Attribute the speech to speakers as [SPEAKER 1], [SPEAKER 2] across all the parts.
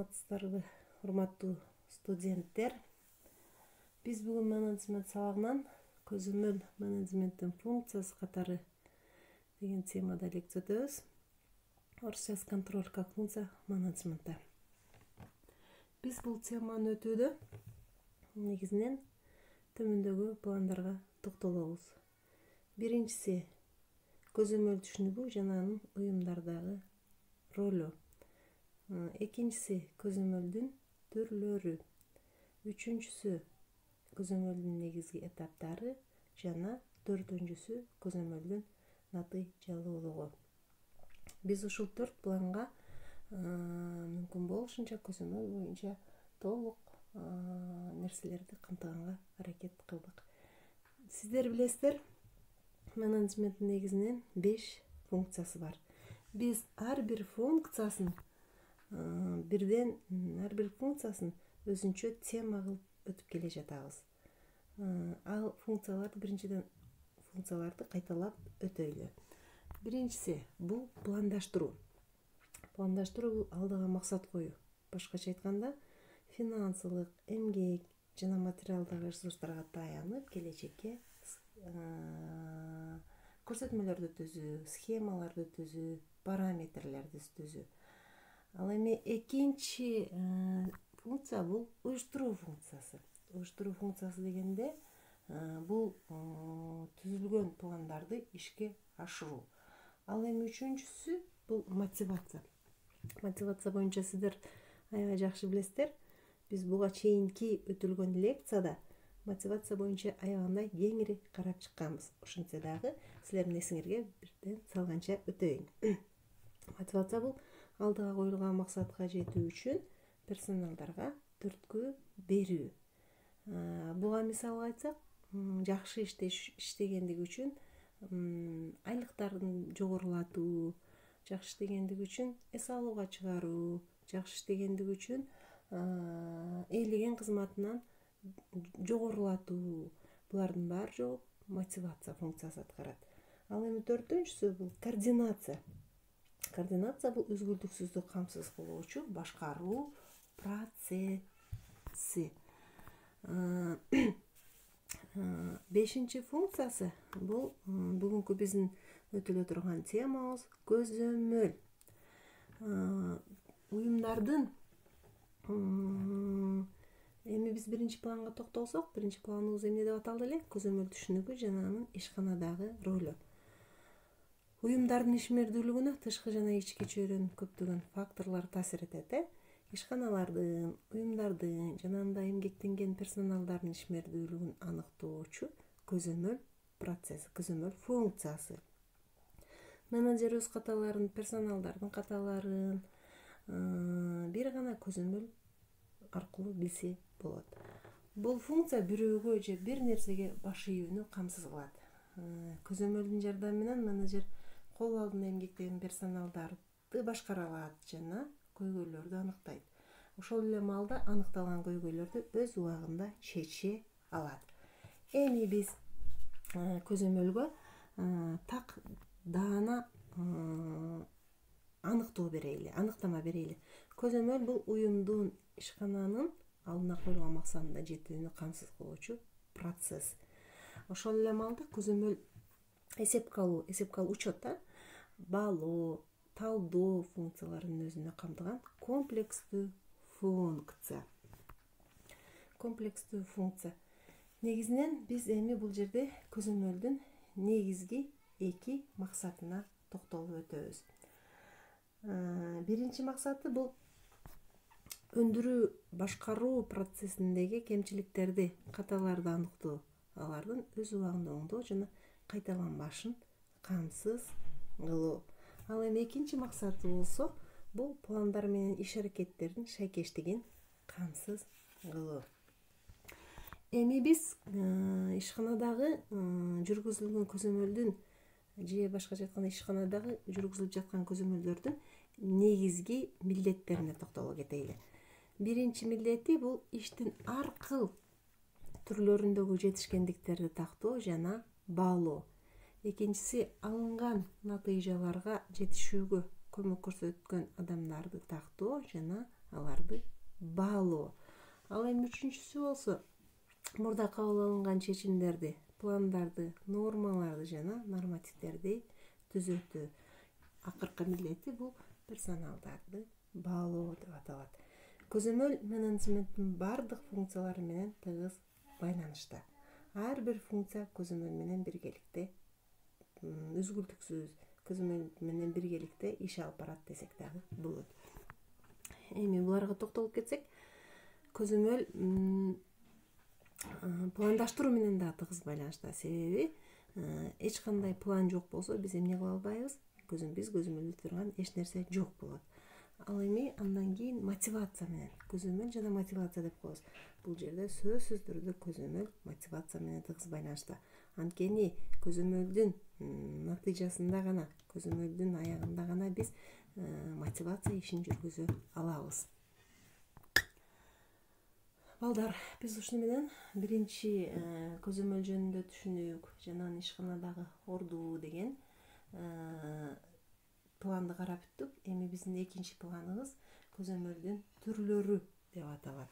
[SPEAKER 1] саламатсыздарбы, урматтуу студенттер. Биз бүгүн менеджмент сабагынан көзөмөл менеджменттин функциясы катары деген темада лекция өтөбүз. Орусча контроль как функция менеджмента. Биз бул теманы өтүүдө негизинен төмөндөгү пландарга токтолобуз. Биринчиси көзөмөл түшүнүгү жана анын уюмдардагы ролу. Экинчиси көзөмөлдүн түрлөрү. Үчүнчүсү көзөмөлдүн негизги этаптары жана төртүнчүсү көзөмөлдүн натыйжалуулугу. Биз ушул 4 планга мүмкүн болушунча көзөмөл боюнча толук нерселерди камтыганга аракет кылдык. Сиздер билесиздер, менеджменттин негизинен 5 функциясы бар. Биз ар бир функциясын өзүнчө тема кылып өтүп келе жатабыз. Ал биринчиден функцияларды кайталап өтөйлү. Биринчиси бул пландаштыруу. Пландаштыруу бул алдыга максат коюу. Башкача айтканда, финансылык, эмгек жана материалдык ресурстарга таянып, келечекке көрсөтмөлөрдү түзүү, схемаларды түзүү, параметрлерди түзүү. Ал эми экинчи функция бул уюштуруу функциясы. Уюштуруу функциясы дегенде бул түзүлгөн пландарды ишке ашыруу. Ал эми үчүнчүсү бул мотивация. Мотивация боюнча сиздер аябай жакшы билесиздер. Биз буга чейинки өтүлгөн лекцияда мотивация боюнча аябагандай кеңири карап чыкканбыз. Ошентсе дагы силердин эсиңерге бирден салганча өтөйүн. Мотивация бул алдыга коюлган максатка жетүү үчүн персоналдарга түрткү берүү. Буга мисал айтсак, жакшы иштегендиги үчүн айлыктарын жогорулатуу, жакшы иштегендиги үчүн эс алууга чыгаруу, жакшы иштегендиги үчүн ээлеген кызматынан жогорулатуу. Булардын баары жолу мотивация функциясы аткарат. Ал эми төртүнчүсү бул координация. Координация бул үзгүлтүксүздүк камсыз кылуучу башкаруу процесси. Бешинчи функциясы бул бүгүнкү биздин өтүлө турган темабыз көзөмөл. Уюмдардын эми биз биринчи планга токтолсок, биринчи планыбыз эмне деп аталды эле? Көзөмөл түшүнүгү жана анын ишканадагы ролу. Уюмдардын ишмердүүлүгүнө тышкы жана ички чөйрөнүн көптөгөн факторлору таасир этет. Ишканалардын, уюмдардын жана анда эмгектенген персоналдардын ишмердүүлүгүн аныктоочу көзөмөл процесси, көзөмөл функциясы. Менеджер өз каталарын, персоналдардын каталарын бир гана көзөмөл аркылуу билсе болот. Бул функция бирөөгө же бир нерсеге баш ийүүнү камсыз кылат. Көзөмөлдүн жардамы менен менеджер кол алдында эмгектеген персоналдарды башкара алат жана көйгөйлөрдү анықтайт. Ошол эле маалда аныкталган көйгөйлөрдү өз убагында чече алат. Эми биз көзөмөлгө так даана аныктама берели. Көзөмөл бул уюмдун ишкананын алдына коюлган максатына жетүүнү камсыз кылуучу процесс. Ошол эле маалда көзөмөл эсепке алуу учет, баалоо, талдоо функцияларын өзүнө камтыган комплекстүү функция. Комплекстүү функция. Негизинен биз эми бул жерде көзөмөлдүн негизги 2 максатына токтолуп өтөбүз. Биринчи максаты бул өндүрүү башкаруу процессиндеги кемчиликтерди, каталарды аныктоо, алардын өз убагында оңдоо жана кайталанбашын камсыз кылуу. Ал эми экинчи максаты болсо, бул пландар менен иш аракеттердин шайкештигин камсыз кылуу. Эми биз ишканадагы жүргүзүлгөн көзөмөлдүн же башкача айтканда ишканадагы жүргүзүлүп жаткан көзөмөлдөрдүн негизги милдеттерине токтоло кетели. Биринчи милдети бул иштин ар кыл түрлөрүндөгү жетишкендиктерди тактоо жана баалоо. Экинчиси алынган натыйжаларга жетишүүгө көмөк көрсөткөн адамдарды тактоо жана аларды баалоо. Ал эми үчүнчүсү болсо мурда кабыл алынган чечимдерди, пландарды, нормаларды жана нормативдерди түзөтүү. Акыркы милдети бул персоналдарды баалоо деп аталат. Көзөмөл менеджменттин бардык функциялары менен тыгыз байланышта. Ар бир функция көзөмөл менен биргеликте үзгүлтүксүз көзөмөл менен биргеликте иш алып барат десек дагы болот. Эми буларга токтолуп кетсек, көзөмөл пландаштыруу менен да тыгыз байланышта. Себеби эч кандай план жок болсо биз эмне кыла албайбыз? Биз көзөмөлдө турган эч нерсе жок болот. Ал эми андан кийин мотивация менен көзөмөл жана мотивация деп коебуз. Бул жерде сөзсүз түрдө көзөмөл мотивация менен тыгыз байланышта. Анткени көзөмөлдүн натыйжасында гана, көзөмөлдүн аягында гана биз мотивация ишин жүргүзө алабыз. Балдар, биз ушуну менен биринчи көзөмөл жөнүндө түшүндүк. Жанагы ишканадагы ордуу деген планды карап бүттүк. Эми биздин экинчи планыбыз көзөмөлдүн түрлөрү деп аталат.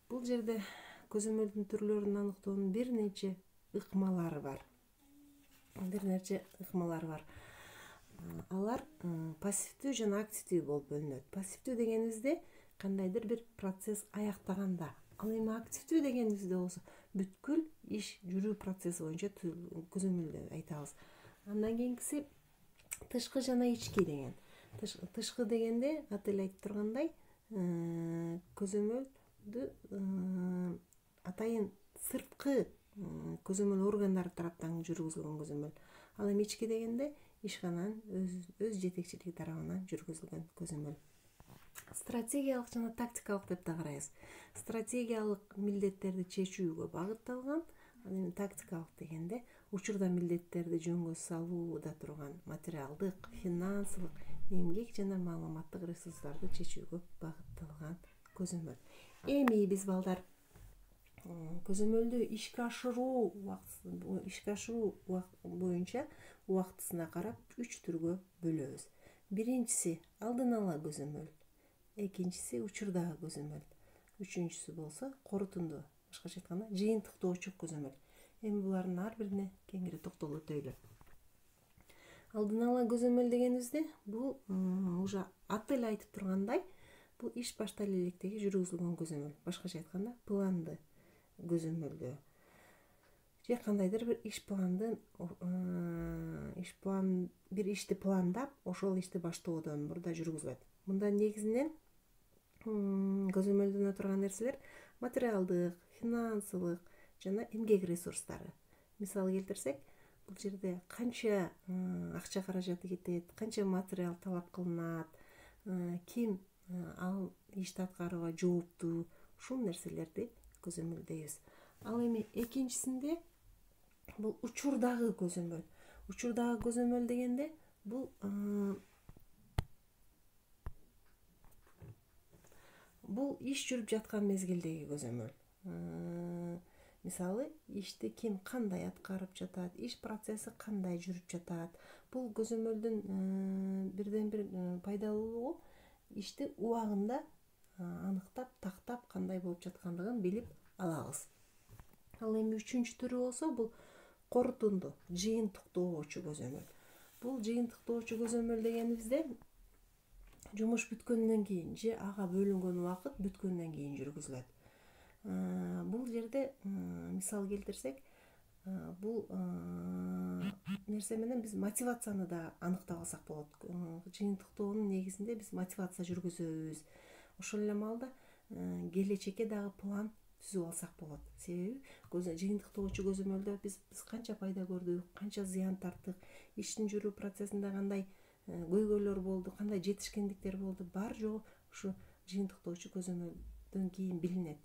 [SPEAKER 1] Бул жерде көзөмөлдүн түрлөрүн аныктоонун бир нече ыкмалары бар. Алар пассивдүү жана активдүү болуп бөлүнөт. Пассивдүү дегенибизде кандайдыр бир процесс аяктаганда. Ал эми активдүү дегенибизде болсо бүткүл иш жүрүү процесси боюнча көзөмөлдү айтабыз. Андан кийинкиси тышкы жана ички деген. Тышкы дегенде аты эле айтып тургандай, көзөмөлдү атайын сырткы көзөмөл органдары тараптан жүргүзүлгөн көзөмөл. Ал эми ички дегенде ишкананын өз жетекчилиги тарабынан жүргүзүлгөн көзөмөл. Стратегиялык жана тактикалык деп да карайбыз. Стратегиялык милдеттерди чечүүгө багытталган, ал эми тактикалык дегенде учурда милдеттерди жөнгө салууда турган материалдык, финансылык, эмгек жана маалыматтык ресурстарды чечүүгө багытталган көзөмөл. Эми биз балдар көзөмөлдү ишке ашыруу боюнча убактысына карап 3 түргө бөлөбүз. Биринчиси алдын ала көзөмөл, экинчиси учурдагы көзөмөл, үчүнчүсү болсо корутунду, башкача айтканда жыйынтыктоочу көзөмөл. Эми булардын ар бирине кеңири токтолуп өтөйлү. Алдын ала көзөмөл дегенибизде бул уже аты эле айтып тургандай, бул иш баштале электеги жүргүзүлгөн көзөмөл. Башкача айтканда планды көзөмөлдөө. Же кандайдыр бир бир ишти пландап, ошол ишти баштоодон мурда жүргүзүлөт. Мында негизинен көзөмөлдөнө турган нерселер материалдык, финансылык жана эмгек ресурстары. Мисал келтирсек, бул жерде канча акча каражаты кетет, канча материал талап кылынат, ким ал ишти аткарууга жооптуу, ушул нерселерди көзөмөлдөйбүз. Ал эми экинчисинде бул учурдагы көзөмөл. Учурдагы көзөмөл дегенде бул иш жүрүп жаткан мезгилдеги көзөмөл. Мисалы, ишти ким кандай аткарып жатат, иш процесси кандай жүрүп жатат. Бул көзөмөлдүн бирден бир пайдалуулугу ишти убагында аныктап, тактап кандай болуп жаткандыгын билип алабыз. Ал эми үчүнчү түрү болсо бул корутунду, жыйынтыктоочу көзөмөл. Бул жыйынтыктоочу көзөмөл дегенибизде жумуш бүткөндөн кийин же ага бөлүнгөн убакыт бүткөндөн кийин жүргүзүлөт. Бул жерде мисал келтирсек, бул нерсе менен биз мотивацияны да анықтап алсак болот. Жыйынтыктоонун негизинде биз мотивация жүргүзөбүз. Ошол эле маалда келечекке дагы план түзүп алсак болот. Себеби жыйынтыктоочу көзөмөлдө биз канча пайда көрдүк, канча зыян тарттык, иштин жүрүү процессинде кандай көйгөйлөр болду, кандай жетишкендиктер болду, бар жогу ушу жыйынтыктоочу көзөмөлдөн кийин билинет.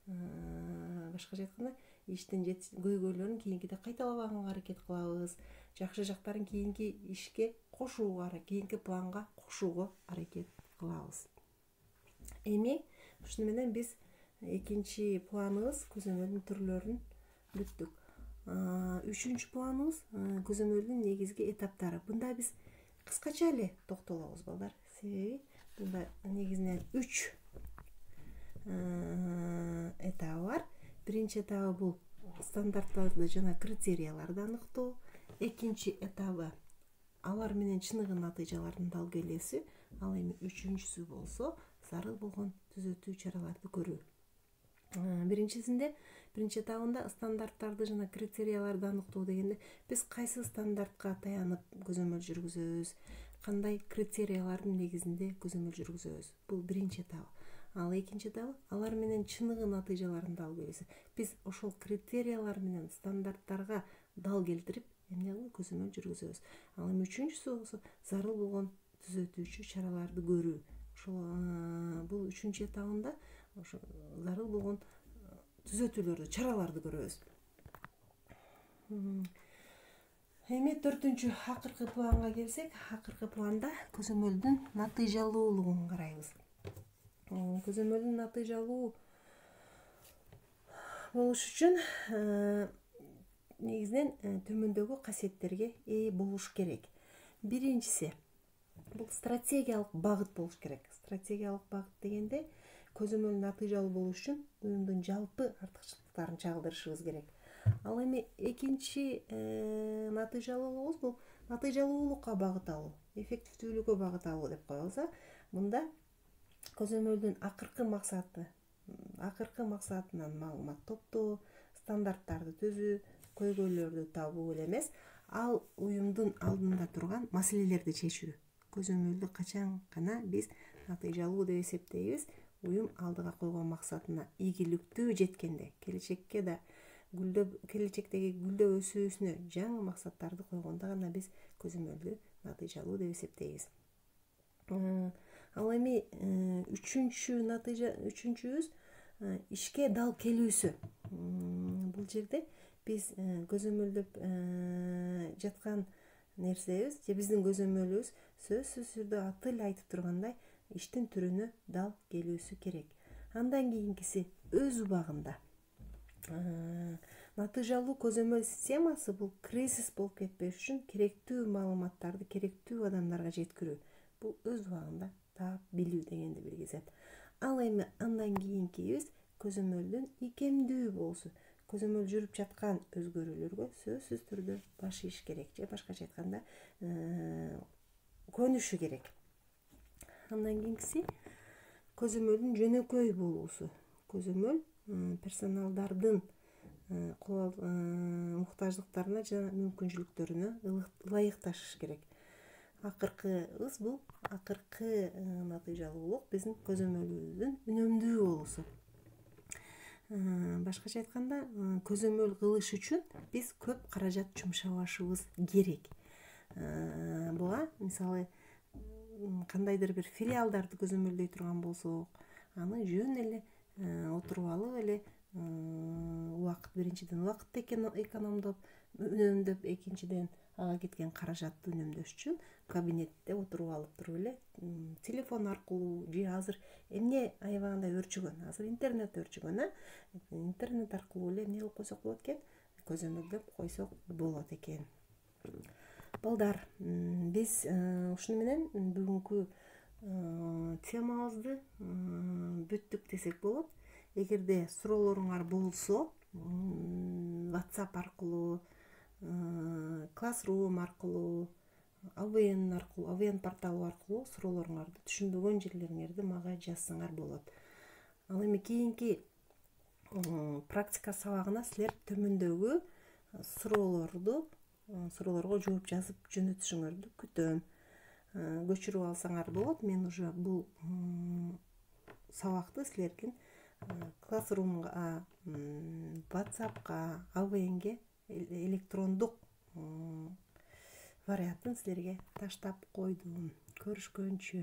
[SPEAKER 1] Башкача айтканда, иштин көйгөйлөрүн кийинкиде кайталабаганга аракет кылабыз, жакшы жактарын кийинки ишке кошууга, кийинки планга кошууга аракет кылабыз. Эми ушуну менен биз экинчи планыбыз көзөмөлдүн түрлөрүн бүттүк. Үчүнчү планыбыз көзөмөлдүн негизги этаптары. Мында биз кыскача эле токтолобуз балдар. Себеби бунда негизинен 3 этабы бар. Биринчи этабы бул стандарттарды жана критерияларды аныктоо. Экинчи этабы алар менен чыныгы натыйжалардын дал келүүсү. Ал эми үчүнчүсү болсо зарыл болгон түзөтүү чараларды көрүү. Биринчи этабында стандарттарды жана критерияларды аныктоо дегенде биз кайсы стандартка таянып көзөмөл жүргүзөбүз, кандай критериялардын негизинде көзөмөл жүргүзөбүз. Бул биринчи этабы. Ал экинчи этабы алар менен чыныгы натыйжалардын дал келүүсү. Биз ошол критериялар менен стандарттарга дал келтирип эмне кылып көзөмөл жүргүзөбүз. Ал эми үчүнчүсү болсо зарыл болгон түзөтүүчү чараларды көрүү. Ошол бул үчүнчү этабында ошо зарыл болгон түзөтүүлөрдү, чараларды көрөбүз. Эми 4-чү акыркы планга келсек, акыркы планда көзөмөлдүн натыйжалуулугун карайбыз. Көзөмөлдүн натыйжалуу болуш үчүн негизинен төмөндөгү касиеттерге ээ болуш керек. Биринчиси бул стратегиялык багыт болуш керек. Стратегиялык багыт дегенде көзөмөл натыйжалуу болуш үчүн уюмдун жалпы артыкчылыктарын чагылдырышыбыз керек. Ал эми экинчи натыйжалуулугубуз бул натыйжалуулукка багыт алуу, эффективдүүлүккө багыт алуу деп коебуз. Мында көзөмөлдүн акыркы максатынан маалымат топтоо, стандарттарды түзүү, көйгөйлөрдү табуу эле эмес, ал уюмдун алдында турган маселелерди чечүү. Көзөмөлдү качан гана биз натыйжалуу деп эсептейбиз? Уюм алдыга койгон максатына ийгиликтүү жеткенде, келечектеги гүлдөп өсүүсүнө жаңы максаттарды койгондо гана биз көзөмөлдү натыйжалуу деп эсептейбиз. Ал эми үчүнчүбүз ишке дал келүүсү. Бул жерде биз көзөмөлдөп жаткан нерсебиз же биздин көзөмөлүбүз сөзсүз түрдө аты эле айтып тургандай иштин түрүнө дал келүүсү керек. Андан кийинкиси өз убагында натыйжалуу көзөмөл системасы бул кризис болуп кетпеш үчүн керектүү маалыматтарды керектүү адамдарга жеткирүү. Бул өз убагында таап билүү дегенди билгизет. Ал эми андан кийинкибиз көзөмөлдүн икемдүү болуусу. Көзөмөл жүрүп жаткан өзгөрүүлөргө сөзсүз түрдө баш ийиш керек же башкача айтканда көнүшү керек. Андан кийинкиси көзөмөлдүн жөнөкөй болуусу. Көзөмөл персоналдардын муктаждыктарына жана мүмкүнчүлүктөрүнө ылайыкташыш керек. Акыркыбыз бул акыркы натыйжалуулук биздин көзөмөлүбүздүн үнөмдүү болуусу. Башкача айтканда, көзөмөл кылыш үчүн биз көп каражат жумшабашыбыз керек. Буга мисалы кандайдыр бир филиалдарды көзөмөлдөй турган болсок, аны жөн эле отуруп алып эле биринчиден убакытты экономдоп, үнөмдөп, экинчиден ага кеткен каражатты үнөмдөш үчүн кабинетте отуруп алып туруп эле телефон аркылуу же азыр эмне аябагандай өрчүгөн, азыр интернет өрчүгөн, интернет аркылуу эле эмне кылып койсок болот экен, көзөмөлдөп койсок болот экен. Балдар, биз ушуну менен бүгүнкү темабызды бүттүк десек болот. Эгерде суроолоруңар болсо, WhatsApp аркылуу, Classroom аркылуу, AVN порталы аркылуу суроолоруңарды, түшүнбөгөн жерлериңерди мага жазсаңар болот. Ал эми кийинки практика сабагына силер төмөндөгү суроолорго жооп жазып жөнөтүшүңөрдү күтөм. Көчүрүп алсаңар болот. Мен уже бул сабакты силердин Classroom'га, WhatsApp'ка, AVN'ге электрондук вариантын силерге таштап койдум. Көрүшкөнчө.